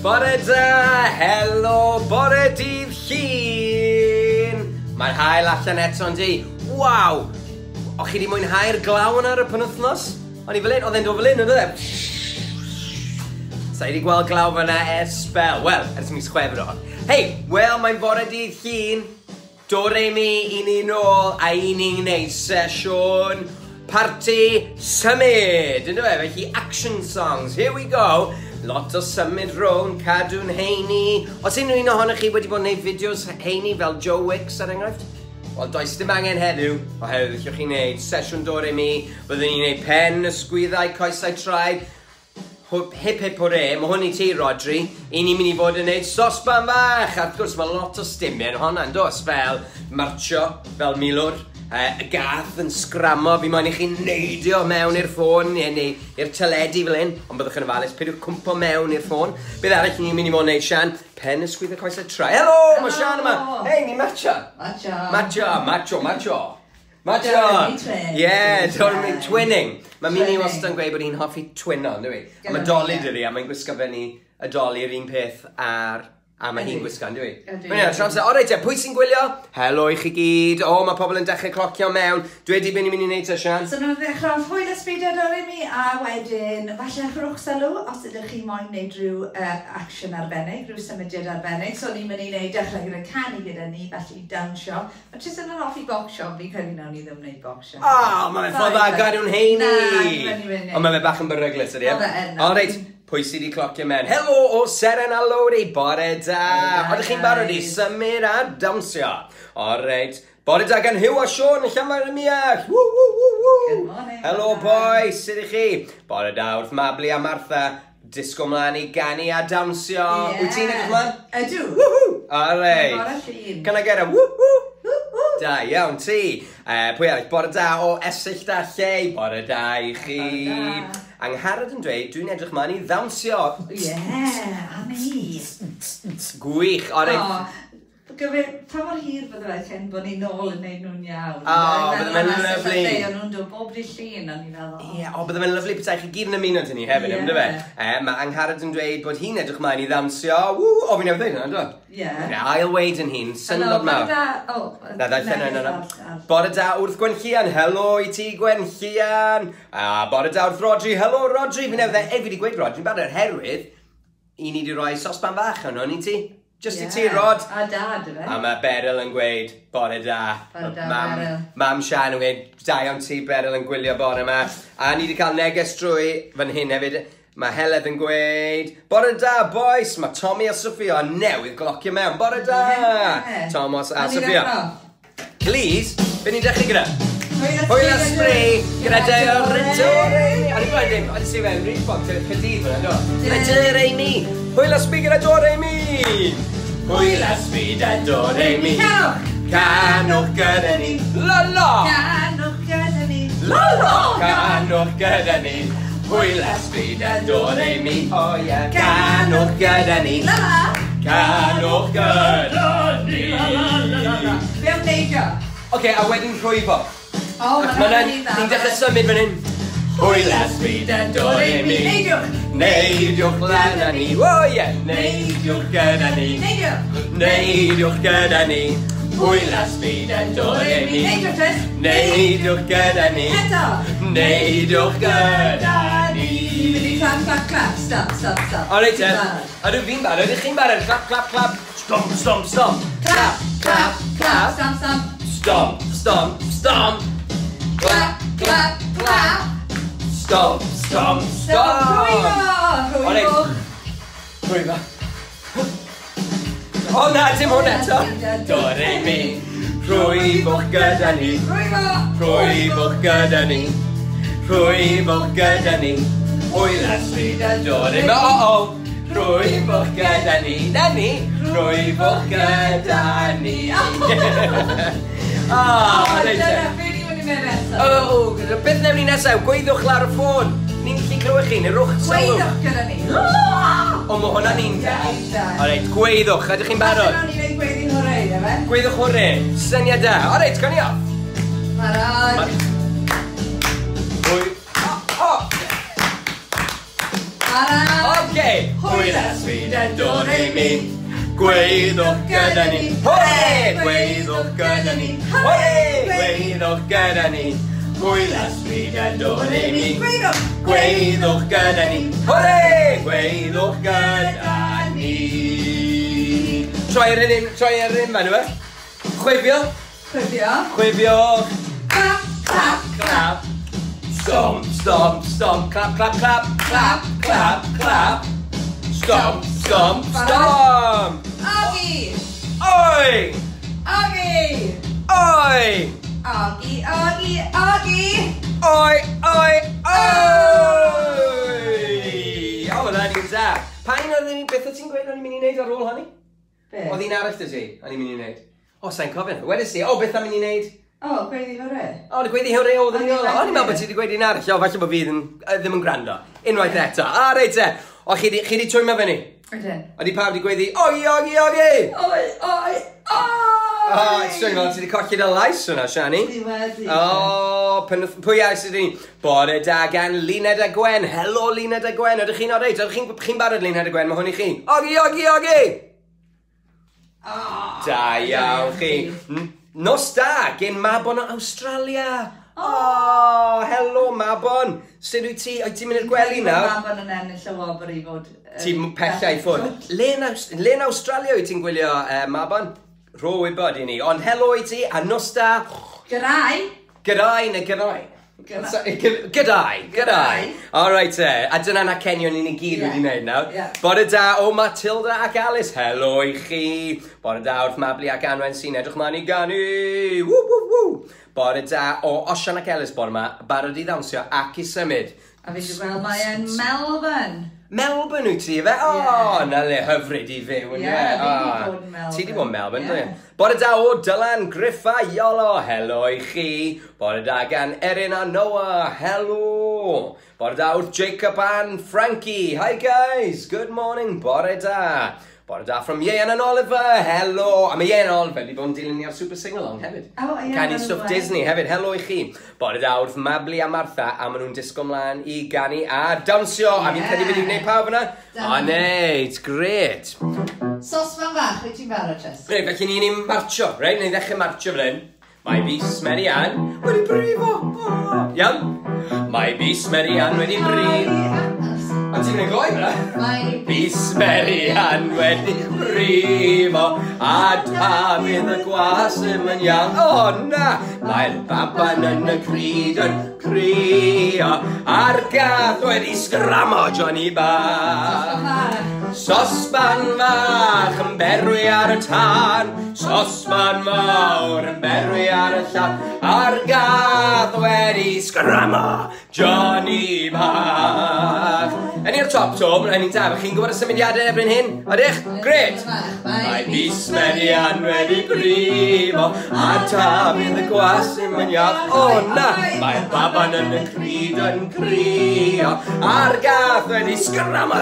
Bore da, helo, bore dydd Llun! Mae'r haul allan eto yn di. Waw! O'ch chi wedi mwynhau'r glaw yna ar y penwythnos? O'n i fel un, oedd e'n dod fel un, oedd e? Sa i wedi gweld glaw fyna ers sbel. Wel, ers mis Chwefror. Hei, wel, mae'n bore dydd Llun. Do re mi i ni nôl a i ni'n gwneud sesiwn parti symud, yndyfe? Felly action songs, here we go. Lot o symud rownd, cadw'n heini. Os unrhyw un ohonoch chi wedi bod yn gwneud fideos heini fel Joe Wicks er enghraifft? Wel, does dim angen heddiw, oherwydd allwch chi wneud sesiwn do re mi, byddwn ni'n gwneud pen, ysgwyddau, coesau, traed, hip hip hwre, mae hwn i ti, Rodri. I ni'n mynd i fod yn neud sosban fach. A wrth gwrs, mae lot o stumiau yn honna, yn does? Fel marcho, fel milwr, y gath yn sgramo. Fi moyn i chi neidio mewn i'r ffôn neu i'r teledu fel hyn. Ond byddwch yn ofalus, peidiwch cwmpo mewn i'r ffôn. Beth arall ni'n mynd i fod yn neud, Sian? Pen ysgwydd y coesau traed. Helo, mae Sian yma. Hei, ni'n matcho. Matcho. Matcho, matcho, matcho. Matcho! Ie, yeah, twinning. Mae Mini wastad yn gweud bod hi'n hoffi twino, ynddo fi? A mae Dolly dydi, a mae'n gwisgo fyny y Dolly yr un peth ar... A mae hi'n gwisgo, ynddo fi? Mae'n iawn, o reit, pwy sy'n gwylio? Helo i chi gyd. O, mae pobl yn dechrau clocio mewn. Dweud i beth ni'n mynd i wneud te, Sian? So, nhw'n ddechrau hwyl ysbryd ar ôl i mi, a wedyn, falle rhowch sylw, os ydych chi moyn wneud rhyw action arbennig, rhyw symudiad arbennig. So, ni'n mynd i wneud dechrau gyda canu gyda ni, felly dawnsio. Mae Tristan yn hoffi bocsio, ond fi'n credu nawn ni ddim wneud bocsio. O, mae fe'n ffordd dda gadw'n heini! Ond mae fe bach yn beryglus, ydy e? O, reit, pwy sydd wedi clocio mewn? Helo o Seren a Lowri, bore da! Oeddech chi'n barod i symud a dawnsio? O, reit, bore da gan Huw a Siôn yn Llanfair ym Muallt! Woo, woo, woo, woo! Good morning! Helo, boys, sut ych chi? Bore da wrth Mabli a Martha, disgo mlaen i ganu a dawnsio. Wyt ti'n edrych mlaen? Ydw! Woohoo! O, reit. Can I get a woo woo? Da iawn ti. Pwy arall? Bore da o Esyllt a Llei. Bore da i chi. Angharad yn dweud, dwi'n edrych mlaen i ddawnsio. Ie, a mi. Gwych. O, reit. Pa mor hir bydde fe cyn bod ni'n nôl yn neud nhw'n iawn? O, bydde fe'n lyfli. O'n nhw'n dod bob dydd Llun, o'n i'n meddwl. Ie, o, bydde fe'n lyfli petai chi gyd yn ymuno 'da ni hefyd, ynddo fe? Mae Angharad yn dweud bod hi'n edrych mlaen i ddawnsio. Ww, o, fi'n newydd ddweud hwnna, ynddo? Ie. Ail weid yn hun, syndod mawr. Bore da, o. Na, ddarllen na, na. Bore da wrth Gwenllian, helo i ti Gwenllian. A bore da wrth Rodri, helo Rodri. Fi'n newydd, fi wedi gweud Rodri, yn barod, herwydd, i ni wedi rhoi sosban fach yno, ni ti? Just i ti, Rod. A dad, efe. A mae Beryl yn gweud, bore da. Bore da, Beryl. Mam Sian yn gweud, da iawn ti, Beryl yn gwylio bore yma. A ni wedi cael neges drwy fan hyn hefyd. Mae Heledd yn gweud, bore da, boys. Mae Tommy a Sophia newydd glocio mewn. Bore da, Thomas a Sophia. Please, be ni'n dechrau gyda? Hwyl a sbri gyda do re mi. O'n i'n gweld dim, o'n i'n sefyll Reebok, Caerdydd fyna, do? Gyda do re mi. Hwyl a sbri gyda do re mi. Hwyl a sbri gyda do re mi. Canwch gyda ni. La la. Canwch gyda ni. La la. Canwch gyda ni. Hwyl a sbri gyda do re mi. O ie. Canwch gyda ni. La la. Canwch gyda ni. La la la. Be am neidio? Oce, a wedyn rhwyfo. O, mae'n ni'n dechrau symud fan hyn. Hwyl a sbri da do re mi. Neidiwch. Neidiwch lan â ni. O ie. Neidiwch gyda ni. Neidiwch. Neidiwch gyda ni. Hwyl a sbri da do re mi. Neidiwch, Tris. Neidiwch gyda ni. Eto. Neidiwch gyda ni. Mynd i clap, clap, clap. Stop, stop, stop. O reit te. Ydw fi'n barod? Ydych chi'n barod? Clap, clap, clap. Stomp, stomp, stomp. Clap, clap, clap. Stomp, stomp. Stomp, stomp, stomp. Clap, clap, clap. Stomp, stomp, stomp. Rhwyfo! Rhwyfo. Rhwyfo. O na, dim hwn eto. Do re mi. Rhwyfwch gyda ni. Rhwyfo. Rhwyfwch gyda ni. Rhwyfwch gyda ni. Hwyl a sbri da do re mi. O, o. Rhwyfwch gyda ni. Na ni. Rhwyfwch gyda ni. O, reit te. O, beth newn ni nesaf? Gweiddiwch lawr y ffôn. Ni'n gallu clywed chi, neu rwch sylw. Gweiddiwch gyda ni. O, mae hwnna'n un da. O reit, gweiddiwch. Ydych chi'n barod? Allan o'n i'n neud gweiddi hwre, efe? Gweiddiwch hwre. Syniad da. O reit, gawn ni off. Barod. Hwy. O! Barod. Oce. Hwyl ysbryd do re mi. Gweithwch gyda ni. Hwre! Gweithwch gyda ni. Hwre! Gweithwch gyda ni. Hwyl ysbryd do re mi. Gweithwch. Gweithwch gyda ni. Hwre! Gweithwch gyda ni. Troi ar un, troi ar un fan yma. Chwifio. Chwifio. Chwifio. Clap, clap, Clap. Stomp, stomp, stomp. Clap, clap, clap. Clap, clap, clap. Stomp, stomp, stomp. Ogi. Oi! Ogi. Oi! Ogi, ogi, ogi. Oi, oi, oi! O, na ni'n da. Pa un oedd ni, beth oedd ti'n gweud o'n i'n mynd i wneud ar ôl hynny? Be? Oedd un arall dy ti, o'n i'n mynd i wneud. O, sa'n cofio. Wedes i, o, beth am mynd i wneud? O, gweiddi hwre. O, dy gweiddi hwre oedd yn O'n i'n O'n i'n meddwl bod ti wedi gweud un arall. O, falle bod fi ddim yn gwrando. Unwaith eto. A, reit te. O, chi di twymo fyny? Ydyn. Ydy pawb wedi gweiddi, oi, oi, oi! Oi, oi, oi! O, ti'n meddwl, ti wedi colli dy lais hwnna, Siani. Ti wedi. O, pwy arall sydd ni? Bore da gan Luned a Gwen. Helo, Luned a Gwen. Ydych chi'n oreit? Ydych chi'n barod, Luned a Gwen? Mae hwn i chi. Ogi, ogi, ogi! O, Da iawn chi. Nos da, gen Mabon o Australia. O, helo Mabon. Sut wyt ti? Wyt ti'n mynd i'r gwely nawr? Mabon yn ennill y wobr i fod... Ti'n pella i ffwrdd. Le yn Australia wyt ti'n gwylio, Mabon? Rho wybod i ni. Ond helo i ti, a nos da. G'day! G'day neu g'day? G'day. G'day, g'day. All right, te. A dyna na cenion i ni gyd wedi wneud nawr. Ie. Bore da o Matilda ac Alice. Helo i chi. Bore da wrth Mabli ac Anwen sy'n edrych mlaen i ganu. Ww, ww, ww. Bore da o Osian ac Elis bore yma. Barod i ddawnsio ac i symud. A fi wedi gweld mae yn Melbourne. Melbourne wyt ti, fe? O, Ie. na le hyfryd i fyw, yn Ie, yeah, fi 'di bod yn Melbourne. Ti di bod yn Melbourne, Ie. yeah. Bore da o Dylan Griffa Iolo, helo i chi. Bore da gan Erin a Noah, helo. Bore da wrth Jacob and Frankie. Hi guys, good morning, bore da. Bore da from Ian and Oliver, helo. A mae Ian and Oliver wedi bod yn dilyn ni ar Super Sing-Along hefyd. O, ie, Canu ma' nhw stwff wedi. Disney hefyd, helo i chi. Bore da wrth Mabli a Martha, a maen nhw'n disgo mlaen i ganu a dawnsio. A fi'n credu bod ni'n gwneud pawb yna. Da. O, ne, it's great. Sosban fach, wyt ti'n barod, Tris? Reit, felly ni'n marcho, reit? Ni'n ddechrau marcho fan hyn. Mae bys Mary Ann wedi brifo. O, iawn. Mae bys Mary Ann wedi brifo. A ti'n mynd gloi fyna? Mae Bys Mary Ann wedi brifo, a Dafydd y gwas ddim yn iawn. O na! Mae'r baban yn y cryd yn crio, a'r gath wedi sgramo Johnny bach. Sosban fach yn berwi ar y tân, sosban mawr yn berwi ar y llan, a'r gath wedi sgramo Johnny bach. Yn i'r top to, mae'n ni'n da, chi'n gwybod y symudiadau erbyn hyn? Ydych? Great! Mae bys Mary Ann wedi brifo, a Dafydd y gwas ddim yn iach. O na! Mae'r baban yn y cryd yn crio, a'r gath wedi sgramo.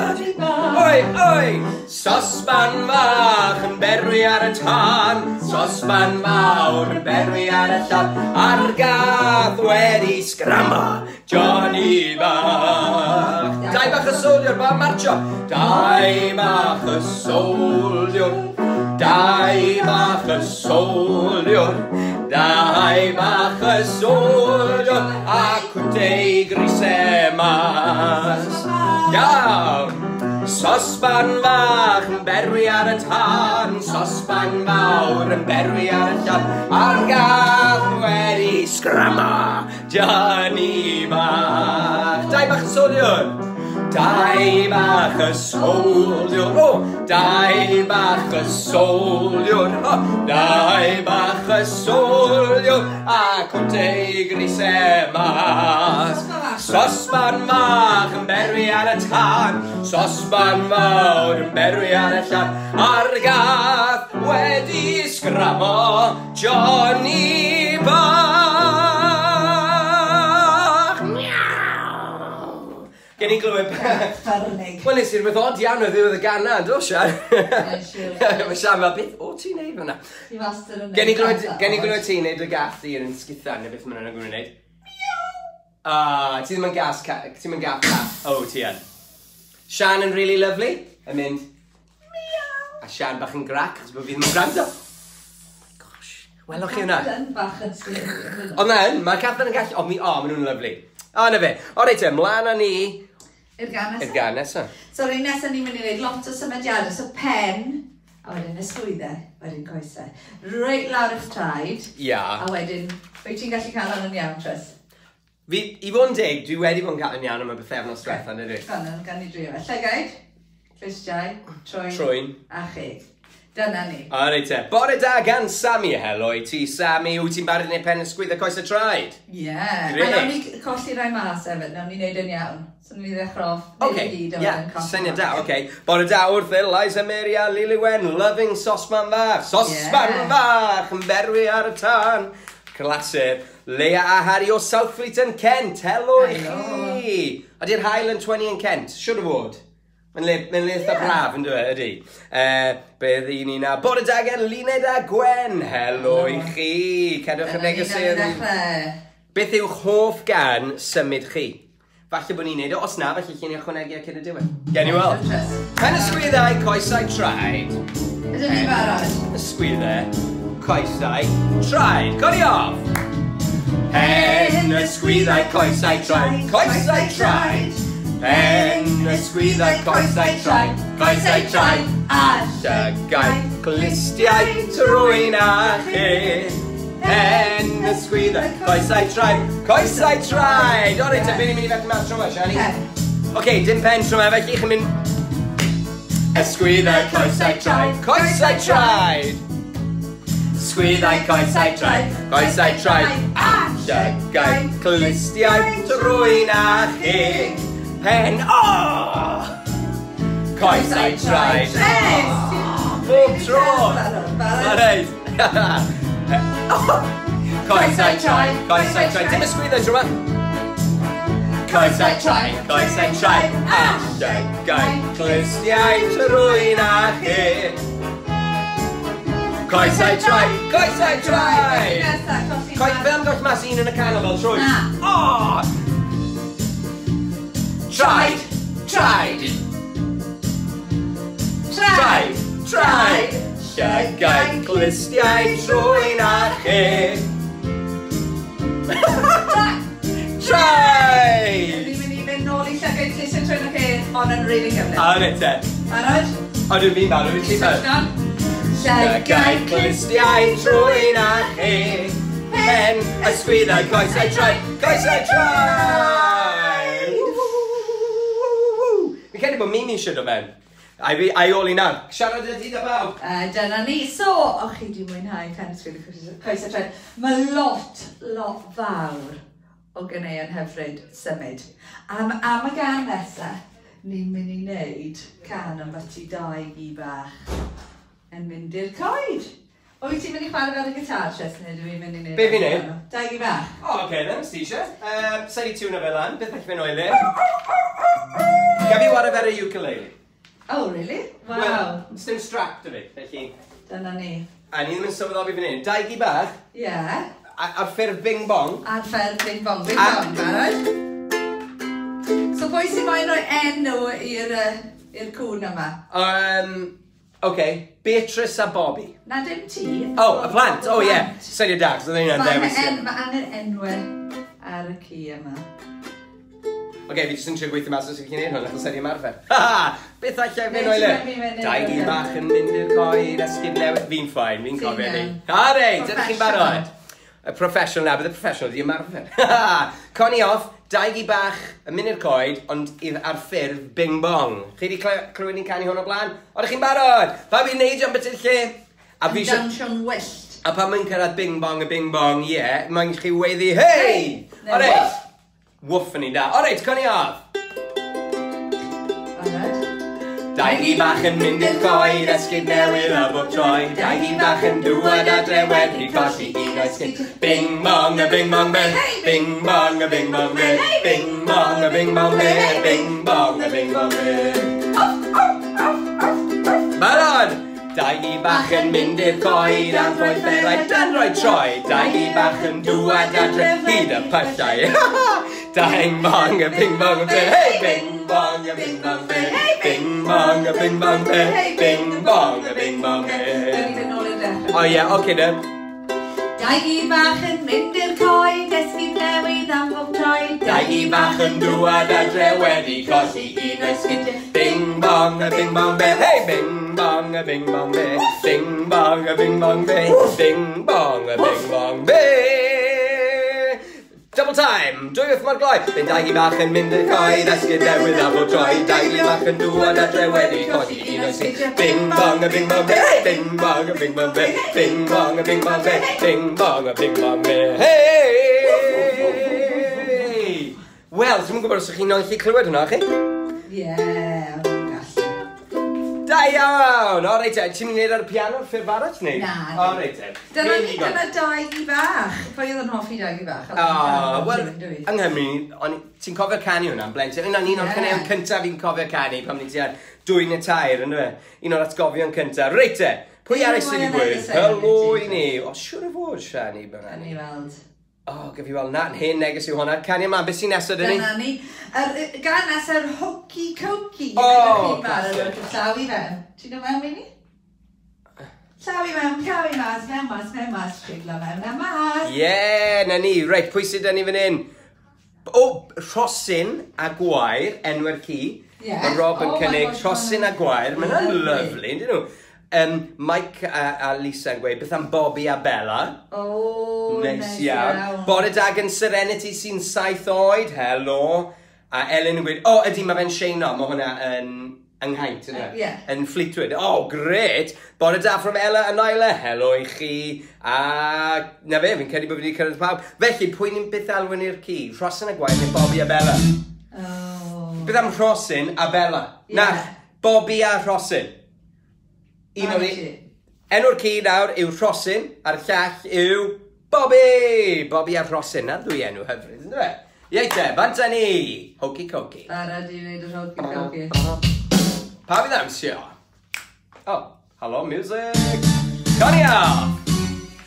Oi, oi! Sosban fach yn berwi ar y tân, sosban mawr yn berwi ar y llan, a'r gath wedi sgramo Johnny bach. Dau bach y soldier, ba marcho. Dau bach y soldier, dau bach y soldier, dau bach y soldier, a cwtei grisau mas. Iawn! Sosban fach yn berwi ar y tân, sosban mawr yn berwi ar y llan, a'r gath wedi sgramo Johnny bach. Dau bach y soldier! Dau bach y soldier, o! Dau bach y soldier, o! Dau bach y soldier, a cwtei grisau mas. Sosban fach yn berwi ar y tân, sosban fawr yn berwi ar y llan, a'r gath wedi sgramo Johnny bach. Miaw! Gen i glywed... Ffyrnig. Wel, nes i rhywbeth od iawn o ddiwedd y gana, do, Sian? Mae'n siŵr. Mae Sian fel, beth o ti'n neud fyna? Ti wastad yn Gen i neud glywed, pethau gen i od. glywed ti'n neud y gath i yn sgithan, neu beth maen nhw'n gwneud. Ah, ti ddim yn gas, ti'n mynd gath ca. O, ti yn. Sian yn really lovely, yn mynd... Miaw! A Sian bach yn grac, achos bod fi ddim yn gwrando. Oh my gosh, welwch chi hwnna? Yn bach yn sgwyd. Ond na yn, mae Catherine yn gallu... O, mi, o, maen nhw'n lovely. O, na fe. O, reit e, mlaen â ni I'r gan i'r nesaf. gan nesaf. So, yr un nesaf ni'n mynd i wneud lot o symudiadau. So, pen, a wedyn ysgwyddau, wedyn coesau. Reit lawr eich traed. Ia. A wedyn, wyt ti'n gallu cael hwn yn iawn, Tris? Fi, i fod yn deg, dwi wedi bod yn cael yn iawn am y bythefnos diwetha, yn ydw? Gan, gan i drio fe. Llygaid, clustiau, trwyn, Trwyn. a cheg. Dyna ni. O, reit te. Bore da gan Sammy. Helo i ti, Sammy. Wyt ti'n barod i wneud pen ysgwydd a coes y traed? Ie. Yeah. Grêt. A nawn ni colli rai mas hefyd, nawn ni wneud yn iawn. So nawn ni ddechrau off, neud Oce, i gyd, a ie, wedyn colli syniad mas. da, oce. Bore da wrth Eliza Mary a Lily Wen, loving sosman fach. Sosman Ie. fach, yn berwi ar y tân. Clasur. Leia a Harry o Southfleet yn Kent. Helo i Helo. chi. Ydy'r haul yn 20 yn Kent? Siwr o fod. Mae'n le, mae'n le eitha Ie. braf, yn dweud, ydy. Beth i ni na? Bore da gen Luned a Gwen. Helo i chi. Cadwch y Dyna ni, nawn ni negeseuon. ddechrau. Beth yw'ch hoff gan symud chi? Falle bod ni'n neud o, os na, falle chi'n ychwanegu ar cyn y diwedd. Gen i weld. Tris. Pen ysgwyddau, coesau, traed. Ydyn ni'n barod? Ysgwyddau, coesau, traed. Codi off! Pen ysgwyddau, coesau, traed. Coesau, traed. Pen ysgwyddau, coesau, traed. Coesau, traed. A llygaid, clustiau, trwyn a chi. Pen ysgwyddau, coesau, traed. Coesau, traed. O reit, te, be ni'n mynd i felly mas tro yma, Siani? Pen. Oce, dim pen tro yma, felly chi'n mynd... Ysgwyddau, coesau, traed. Coesau, traed. Sgwyddau, coesau, traed. Coesau, traed. A llygaid, clustiau, trwyn a cheg. Pen, o! Coesau, traed. Tris! Bob tro! Barod. Reit. Coesau, traed, coesau, traed. Dim ysgwyddau tro yma. Coesau, traed, coesau, traed. A llygaid, clustiau, trwyn a cheg. Coesau, traed, coesau, traed. Nesa, colli Coi, mas. fe am goll mas un yn y canol fel trwy? Na. O! Traed, traed, traed, traed. Llygaid, clustiau, trwyn a cheg. Traed! Traed! Ni'n mynd i fynd nôl i llygaid clustiau trwyn a cheg, ond yn rili gyflym. A reit te. Barod? O, dwi'n fi'n barod, wyt ti'n barod? Switched on? Llygaid, clustiau, trwyn a cheg. Pen, ysgwyddau, coesau, traed, coesau, traed! Fi'n credu bod Mimi eisiau dod mewn. A fi, a i ôl i nawr. Siarad y dydd a bawb. Dyna ni. So, o'ch chi di mwynhau pen ysgwydd y coesau traed. Mae lot, lot fawr o ganeuon hyfryd symud. Am, am y gan nesaf, ni'n mynd i wneud can am byti dau gi bach yn mynd i'r coed. Wyt ti'n mynd i chwarae fel y gitar, Tris, neu dwi'n mynd i wneud? Be fi'n neud? Dau gi bach. O, oce, then, ti eisiau. Sa'i di tiwno fe lan, beth allai fynd o'i le? Gaf fi wara fe ar y ukulele. Oh, really? Wow. Wel, sdim strap dy fi, felly... Dyna ni. A ni ddim yn sylweddoli fan hyn. Dau gi bach, Ie. Yeah. ar ffurf bing bong. Ar fel bing bong, bing A- bong, barod? So pwy sy'n moyn rhoi enw i'r i'r cwn yma? Oce, Beatrice a Bobby. Na dim ti. Oh, y plant, oh Y ie. Yeah. plant. Syniad da, cos oedd hynna'n Mae dewis. angen, ma angen enwau ar y ci yma. Oce, fi jyst yn trio gweithio mas os ydych chi'n neud hwn, achos ydy ymarfer. Ha ha! Beth allai fynd o'i le? Neu ti'n mynd i Dau gi fynd. bach yn mynd i'r coed, esgid newydd. Fi'n ffain, fi'n Ti'n cofio ni. iawn. A reit, ydych chi'n Professional. barod? Y professional na, bydd y professional di ymarfer. Connie off, dau gi bach yn mynd i'r coed, ond ar ffurf bing bong. Chi wedi clywed ni'n canu hwn o blaen? Oeddech chi'n barod? Pa fi'n neud am beth lle? A fi Yn eisiau... dawnsio'n wyllt. A pan mae'n cyrraedd bing bong a bing bong, ie, yeah, mae'n chi weiddi, hei! Neu O reit. woof. Woof yn un da. O reit, Connie off. Barod? Dau gi bach yn mynd i'r coed, esgid newydd a bob troi. Dau gi bach yn dŵad adre wedi colli un esgid. Bing bong a bing bong ben, bing bong a bing bong ben, bing bong a bing bong ben, bing bong a bing bong ben. Barod! Dau gi bach yn mynd i'r coed am roi fferau dan roi troi. Dau gi bach yn dŵad adre hyd y pyllau. Dang bong a bing bong a ben, hey! Bing bong bong, a bing bong be. Bing bong, a bing bong be. Bing bong, a bing bong be. Gawn ni fynd nôl i'r dechrau. O ie, oce de. Dau gi bach yn mynd i'r coed, esgid newydd am bob troed. Dau gi bach yn dŵad adre wedi colli un o'i sgidiau. Bing bong, a bing bong be. Hey! Bing bong, a bing bong be. Bing bong, a bing bong be. Bing bong, a bing bong be. Double time! Dwy wrth mor gloi! Bydd dau gi bach yn mynd i'r coed, esgid newydd am bob troed. Dau gi bach yn dŵad adre wedi colli un o'i sgidiau. Bing bong, a bing bong be. Bing bong, a bing bong be. Bing bong, a bing bong be. Bing bong, a bing bong be. Hey! Wel, dwi'm yn gwybod os ydych chi'n gallu clywed hwnna, chi? Ie, o'n i'n gallu. Da iawn! O, reit te, ti'n mynd i wneud ar y piano ffurf arall, neu? Na. O, reit te. Dyna ni, dyna dau gi bach. Pwy oedd yn hoffi dau gi bach? O, wel, yng Nghymru, ti'n cofio canu hwnna, blentyn? Yna, un o'r caneuon cyntaf fi'n cofio canu pan ni'n tua 2 neu 3, ynddo fe? Un o'r atgofion cyntaf. Reit te, pwy arall sydd wedi gweud? Helo i ni. O, siŵr o fod, Siani, byna ni. Weld. O, gyf i weld na, hen neges yw hwnna. Canu ymlaen, beth sy'n nesaf dyn ni? Dyna ni. Gan nesaf Hokey Cokey. O, classic. Llaw i fewn. Ti'n dod mewn i ni? Llaw i mewn, llaw i mas, mewn mas, mewn mas, siglo mewn a mas. Ie, na ni. Reit, pwy sydd 'da ni fan hyn? O, Rhosyn a Gwair, enw'r ci. Yeah. Mae Rob yn cynnig Rhosyn a Gwair. Mae hwnna'n lyfli, yndyn nhw? Mike a Lisa yn gweud, beth am Bobby a Bella? O, neis iawn. Bore da gan Serenity sy'n 7 oed, helo. A Ellen yn gweud, o, ydy, mae fe'n sheino, mae hwnna yn ynghaint, yna. Yeah. Yn Fleetwood. O, gret! Bore da from Ella a Nyla, helo i chi. A na fe, fi'n credu bod fi wedi cyrraedd pawb. Felly, pwy ni'n byth alwyn i'r ci? Rhosyn a Gwair neu Bobby a Bella? Oh. Beth am Rhosyn a Bella? Yeah. Na, Bobby a Rhosyn. Un o'r enw'r ci nawr yw Rhosyn, a'r llall yw Bobby! Bobby a Rhosyn, na ddwy enw hyfryd, ynddo fe? Ie te, bant â ni! Hokey Cokey. Barod i wneud yr Hokey Cokey. Pa fydd amsio? Oh, hello music! Conia!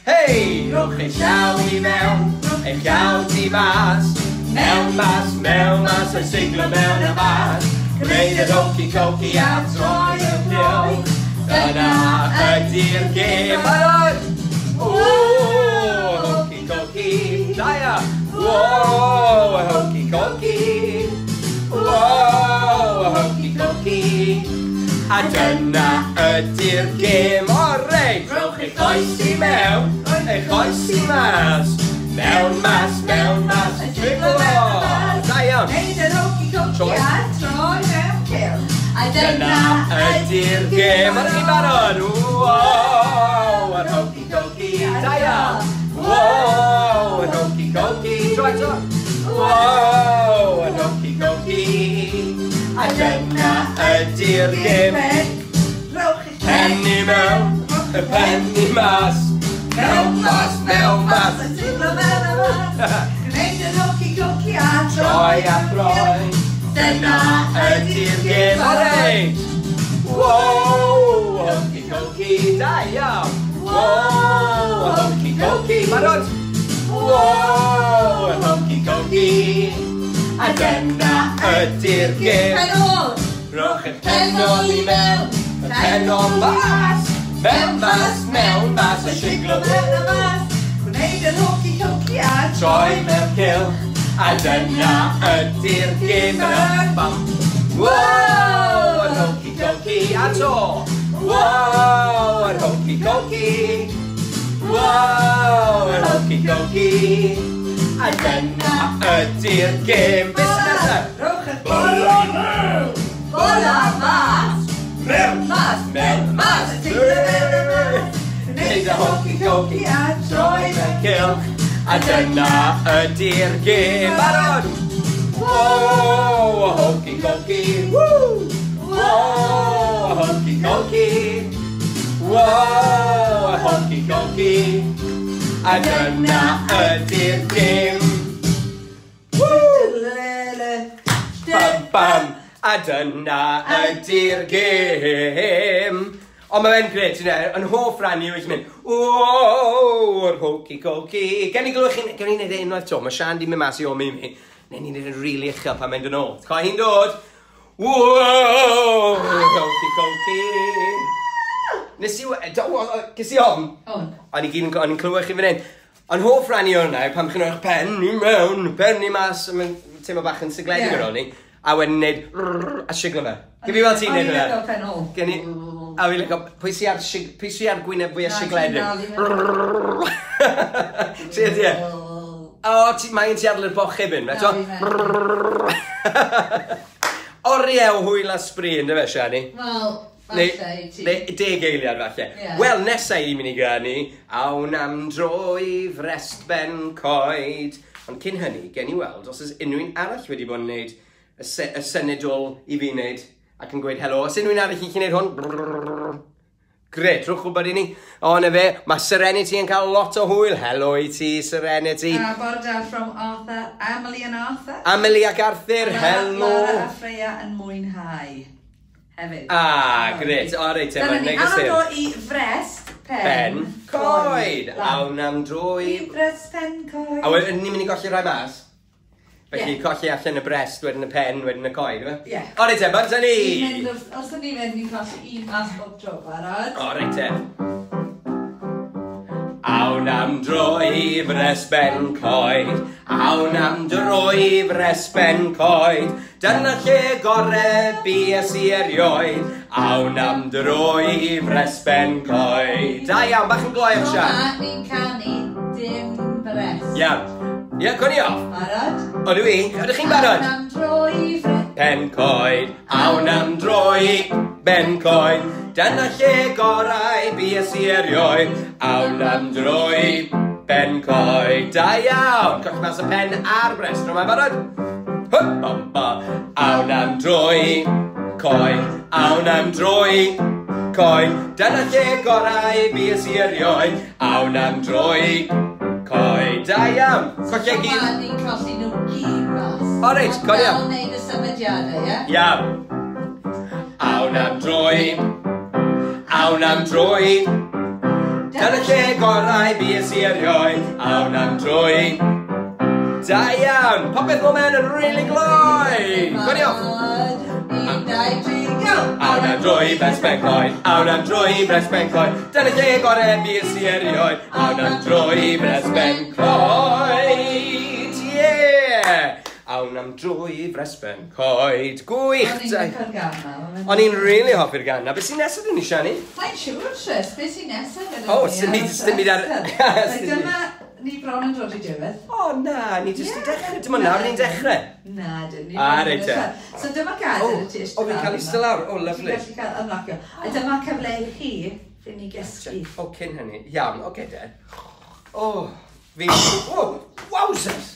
Hei! Rhowch eich llaw i mewn, eich llaw tu fas. Mewn mas, mewn mas, a siglo mewn a mas. Gwneud yr Hokey Cokey a troi y cylch. Dyna ydy'r gêm. Barod! O, Hokey Cokey, da ia! Whoa, Hokey Cokey! Whoa, Hokey Cokey! A dyna ydy'r gêm. O, reit! Rhowch eich oes i mewn, eich oes i mas. Mewn mas, mewn mas, triglo! Da iawn! Neud yr Hokey Cokey a troi mewn cylch. A dyna ydy'r gêm. Ydych chi'n barod? Wow, yr Hokey Cokey, da iawn. Wow, yr Hokey Cokey, tro eto. Wow, yr Hokey Cokey. A dyna ydy'r gêm. Rhowch eich pen i mewn, y pen i mas. Mewn mas, mewn mas. A siglo mewn a mas. Gwneud yr Hokey Cokey a troi a throi. Dyna ydy'r gêm. Alright! Wow, Hokey Cokey, da iawn! Wow, Hokey Cokey, barod! Wow, Hokey Cokey. A dyna ydy'r gêm. Pen ôl! Rhowch y pen ôl i mewn, y pen ôl mas. Mewn mas, mewn mas, a siglo mewn a mas. Gwneud yr Hokey Cokey a troi mewn cylch. A dyna ydy'r gêm. Wow, yr Hokey Cokey, a to. Wow, yr Hokey Cokey. Wow, yr Hokey Cokey. A dyna ydy'r gêm. Beth sy'n nesaf? Rhowch y bola mewn, bola mas. Mewn mas, mewn mas. Gwneud y Hokey Cokey a troi mewn cylch. A dyna ydy'r gêm. Barod! Wow, Hokey Cokey. Woo! Wow, Hokey Cokey. Wow, Hokey Cokey. A dyna ydy'r gêm. Woo! Bam, bam. A dyna ydy'r gêm. Ond mae fe'n gret, ti'n yn hoff ran i yw eich mynd, whoa, yr Hokey Cokey. Gen i glywch chi, gen i wneud e unwaith to, mae Sian di mynd mas i omi mi. Neu ni'n neud e'n rili uchel pan mae'n dod nôl. Coi hi'n dod, Wow! Okie dokie. Nes i... Ges i ofn? On. O'n i gyd yn, o'n i'n clywed chi fan hyn. Ond hoff ran i hwnna yw pan chi'n rhoi'ch pen i mewn, pen i mas, a mae'n teimlo bach yn sigledig Ie. ar ôl ni. A wedyn neud a siglo fe. Gyd fi weld ti'n O'n neud i'n hwnna. licio pen ôl. Gen i... A fi'n licio, pwy sy ar, pwy sy ar gwyneb fwyaf Na, sigledig? ti'n dal i Ti ydi e? O, ti, mae'n ti adl i'r bocheb un, Na, eto? fi'n Oriau o hwyl a sbri, ynddo fe, Siani? Wel, Neu, falle i ti. neu 10 eiliad falle. Ie. Wel, nesa i mynd i ganu, awn am dro i Frest Ben Coed. Ond cyn hynny, gen i weld os oes unrhyw un arall wedi bod yn gwneud y synedol i fi wneud ac yn gweud helo. Os unrhyw un arall yn gallu gwneud hwn? Gret, rhowch wybod i ni. O, na fe, mae Serenity yn cael lot o hwyl. Helo i ti, Serenity. Bore da from Arthur, Emily and Arthur. Amelie ac Arthur, helo. Lara a Freya yn mwynhau. Hefyd. Ah, gret. O, reit, Dyna mae'n ni, neges awn am i'r dro i Frest Pen Ben Coed. Lan. Awn am dro i... I Frest Pen Coed. A wedyn ni'n mynd i golli rhai mas. Felly Ie. colli allan y brest, wedyn y pen, wedyn y coed, ife? Ie. O, reit te, bant â ni! Ni'n mynd os ydyn ni'n mynd, ni'n colli un mas bob tro, barod. O, reit te. Awn am dro i Frest Ben Coed, awn am dro i Frest Ben Coed, dyna lle gore bues i erioed, awn am dro i Frest Ben Coed. Da iawn, bach yn gloiach, Tro Sian. ma, ni'n canu dim brest. Iawn. Ie, cwn i off. Barod? Odw i, ydych chi'n barod? Awn am dro i Frest. Pen coed, awn am dro i Ben Coed, dyna lle gorau bues i erioed, awn am dro i Ben Coed. Da iawn, colli mas y pen a'r brest, rwy'n barod? Hwp, bom, ba. Awn am dro i coed, awn am dro i coed, dyna lle gorau bues i erioed, awn am dro i coed. Da iawn, colli Tro gyd. ma, ni'n colli nhw gyd mas. O, reit, Ond cofio. Dal wneud y symudiadau, ie? Iawn. Awn am dro i, awn am dro i, dyna lle gorau bues i erioed, awn am dro i. Da iawn, popeth mo mewn yn really gloi. Gwni off. Barod. 1, 2, 3, go! Awn am dro i Brest Ben Coed, awn am dro i Brest Ben Coed, dyna lle gorau bues i erioed, awn am dro i Brest Ben Coed, yeah! Awn am dro i Brest Ben Coed, gwych! O'n i'n licio'r gan 'ma, ma' fe'n- O'n i'n really hoffi'r gan na. Beth sy'n nesaf dyn ni, Siani? Mae'n siŵr, Tris, beth sy'n nesaf gyda O, ni sdim ar byd- y sdim byd ar- rhestr? Sdim byd. Dyma ni bron yn dod i diwedd. O, na, ni jyst Ie, i dechrau. Dim ond nawr ni'n dechrau. Na, dyn ni. Ah, bron yn reit te. dechrau. So dyma gader O, y ti eistedd o, fi'n lawr cael yma. eistedd lawr. O, lovely. Ti'n gallu cael ymlacio. A dyma cyfle i chi fynd i gysgu. O, cyn hynny. Iawn, oce de. O, fi... O, wowzers!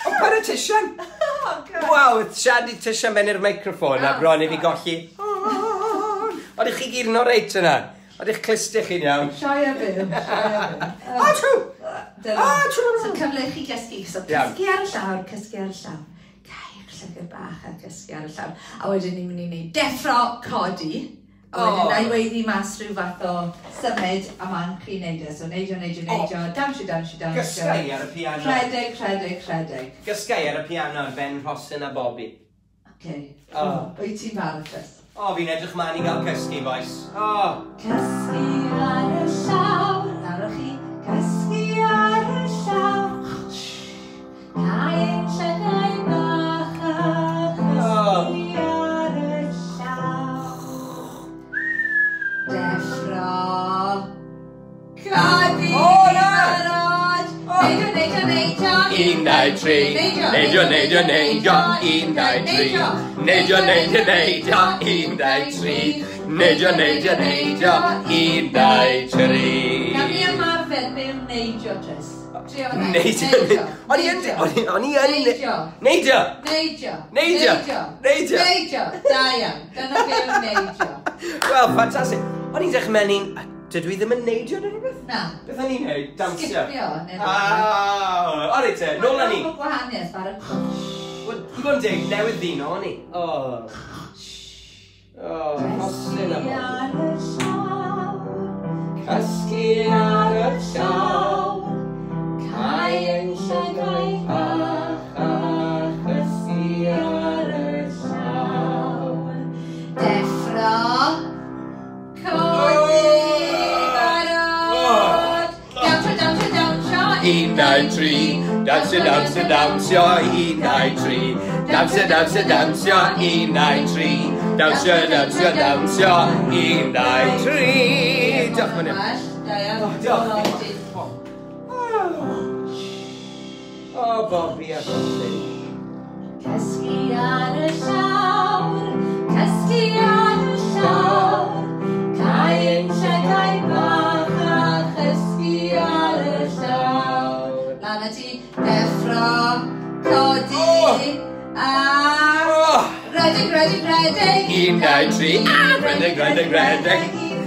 O, paid â tisian! Oh, God. Waw, Sian di tisian mewn i'r microffon a Oh, bron i fi sorry. golli. Oeddech chi gyd yn oreit yna? Oeddech clustiau chi'n iawn? Sioe a byw, sioe a byw. O, true! Dyna. Ah, true. So cyfle i chi gysgu. So Iawn. cysgu ar y llawr, cysgu ar y llawr. Cau'ch llygad bach a cysgu ar y llawr. A wedyn ni'n mynd i wneud deffro codi. A wedyn Oh. na i weiddi mas rhyw fath o symud a ma'n chi'n neud e. So neidio, neidio, neidio, dawnsio, dawnsio, dawnsio. Gysgai ar y piano. Rhedeg, rhedeg, rhedeg. Gysgai ar y piano ar Ben Rhosyn a Bobby. Okay. Oh. Wyt ti'n barod, Chris? O, fi'n edrych mlaen i gael cysgu, boys. O, Cysgu ar y llawr, nawr chi, cysgu ar y llawr. Cau ein llygaid bach a chysgu ar y llawr. Deffro. Codi. O, na! Barod. O. Neidio, neidio, neidio. 1, 2, 3. Neidio, neidio, neidio. 1, 2, 3. Neidio, neidio, neidio. 1, 2, 3. Neidio, neidio, neidio. 1, 2, 3. Gawn ni ymarfer be yw neidio, Tris. Trio fe. Neidio. O'n i yn... O'n i yn... Neidio. Neidio. Neidio. Neidio. Neidio. Neidio. Da iawn. Dyna be yw neidio. Wel, ffantastig. O'n i'n dechrau mewn i'n... Dydw i ddim yn neidio neu rhywbeth? Na. Beth o'n i'n neud? Dawnsio. Sgipio neu rhywbeth. Ah, o reit te, nôl â ni. Mae'n gwahaniaeth ar y Wel, i fod yn deg, newydd ddyn o'n i. O. O, Rhosyn a Cysgu Bobby. ar y llawr. Cysgu ar y llawr. Cau ein llygaid bach a chysgu ar y llawr. 1, 2, 3. Dawnsio, dawnsio, dawnsio, 1, 2, 3. Dawnsio, dawnsio, dawnsio, 1, 2, 3. Dawnsio, dawnsio, dawnsio, 1, 2, 3. Diolch yn fawr. Diolch. O, Bobby a Rhosyn. Cysgu ar y llawr, cysgu ar y llawr, cau ein llygaid bach a chysgu ar y llawr. Lan â ti, deffro, codi, a redeg, redeg, redeg. 1, 2, 3, redeg, redeg, redeg.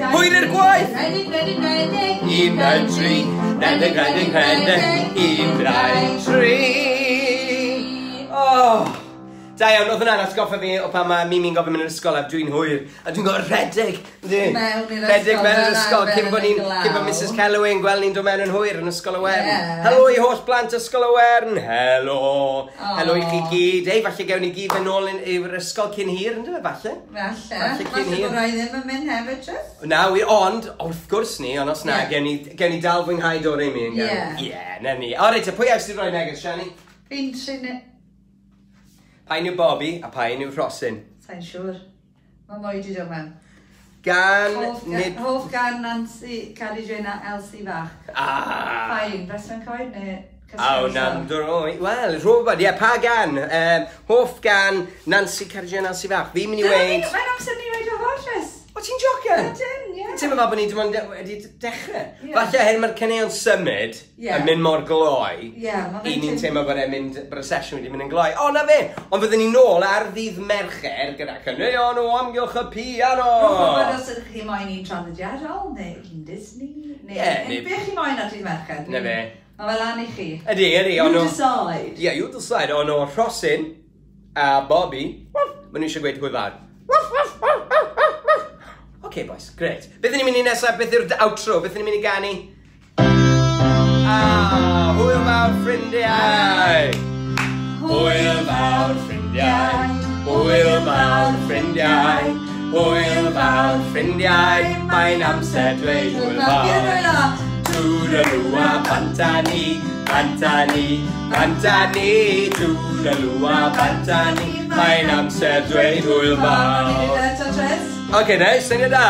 Hwyr i'r gwaith! Redeg, redeg, redeg. 1, 2, 3, redeg, redeg, redeg. 1, 2, 3. Oh. Da iawn, oedd hwnna'n atgoffa fi o pan mae Mimi'n gofyn mynd i'r ysgol a dwi'n hwyr. A dwi'n gorfod rhedeg. Mewn i'r Rhedeg mewn i'r ysgol cyn bod ni'n glaw. cyn bod Mrs Calloway yn gweld ni'n dod mewn yn hwyr yn Ysgol y Wern. Ie. Helo i holl blant Ysgol y Wern. Helo. Helo i chi gyd. Ei, falle gewn ni gyd fynd nôl i'r ysgol cyn hir, ynddo fe, falle? Falle. Falle cyn Falle hir. bod rai ddim yn mynd hefyd, Tris. Na, wir, ond, wrth gwrs ni, ond os na, Ie. gewn ni dal fwynhau Do Re Mi yn gael. Ie. Ie, na ni. O, reit, pwy ers ti roi neges, Shani? Fi'n trin... Pa un yw Bobby a pa un yw Rhosyn? Sa'n siŵr. Mae mwy di dod mewn. Gan... Hoff, nid... hoff gan Nancy, Cadi Jane a Elsie Fach. Ah! Pa un, Breswen Coed neu Cysgu Aw, ar y nam Llawr? droi. Wel, rhywbeth, ie, pa gan? Hoff gan Nancy Cadi Jane Elsie Fach. Fi'n mynd i Dyna ni, weid... Mae'n amser ni weid o fo, Tris. O, ti'n jocan? Ydyn, ie. Ti'n meddwl bod ni dim ond wedi dechrau. Ie. Falle hyn mae'r caneuon symud Ie. yn mynd mor gloi. Ie, ma' fe'n I ni'n teim- teimlo bod e'n mynd, bod y sesiwn wedi mynd yn gloi. O, na fe! Ond fyddwn ni nôl ar ddydd Mercher gyda caneuon o amgylch y piano. Rwy'n gwybod os ydych chi moyn un traddodiadol, neu un Disney, neu Ie, neu beth chi moyn ar dydd Mercher. Na fe. Mae fe lan i chi. Ydy, ydy, You ond o... decide. Ie, you decide. Ond o Rhosyn a Bobby, maen nhw eisiau gweud hwyl fawr. OK, boys, great. Beth ni'n mynd i nesaf? Beth yw'r outro? Beth ni'n mynd i ganu? Ah, hwyl fawr, ffrindiau! Hwyl fawr, ffrindiau! Hwyl fawr, ffrindiau! Hwyl fawr, ffrindiau! Mae'n amser dweud hwyl fawr. Toodaloo a bant â ni, bant â ni, bant â ni. Toodaloo a bant â ni. Mae'n amser dweud hwyl fawr. Oce, ne, syniad da.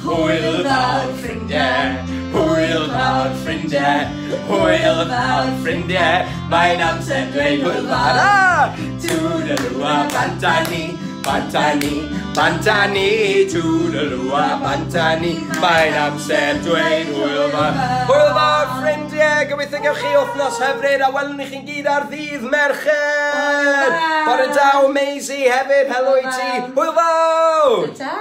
Hwyl fawr, ffrindiau, hwyl fawr, ffrindiau, hwyl fawr, ffrindiau. Mae'n amser dweud hwyl fawr. Ah! Toodaloo a bant â ni, bant â ni, bant â ni. Toodaloo a bant â ni. Mae'n amser dweud hwyl fawr. Hwyl fawr, ffrindiau. Gobeithio gewch chi wythnos hyfryd a welwn ni chi'n gyd ar ddydd Mercher. Hwyl fawr. Bore da, Maisie hefyd. Helo i ti. Hwyl Hwyl fawr. Ta!